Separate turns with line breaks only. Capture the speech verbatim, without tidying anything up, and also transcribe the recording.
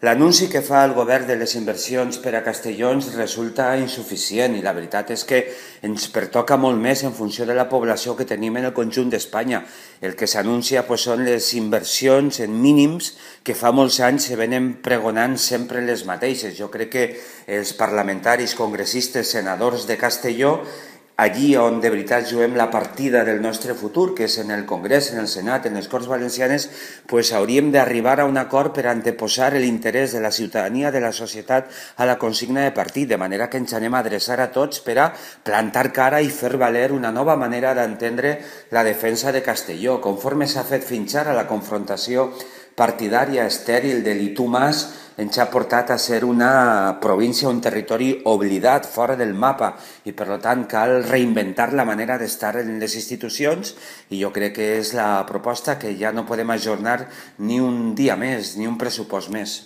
L'anunci que fa el govern de les inversions per a Castelló ens resulta insuficient i la veritat és que ens pertoca molt més en funció de la població que tenim en el conjunt d'Espanya. El que s'anuncia pues, són les inversions en mínims que fa molts anys se venen pregonant sempre les mateixes. Jo crec que els parlamentaris, congressistes, senadors de Castelló, allí on de veritat juguem la partida del nostre futur, que és en el Congrés, en el Senat, en les Corts Valencianes, pues hauríem d'arribar a un acord per anteposar l'interès de la ciutadania, de la societat, a la consigna de partit, de manera que ens anem a adreçar a tots per a plantar cara i fer valer una nova manera d'entendre la defensa de Castelló. Conforme s'ha fet fins ara la confrontació partidària estèril de l'I tu Mas, ens ha portat a ser una província, un territori oblidat, fora del mapa, i per tant cal reinventar la manera d'estar en les institucions i jo crec que és la proposta que ja no podem ajornar ni un dia més, ni un pressupost més.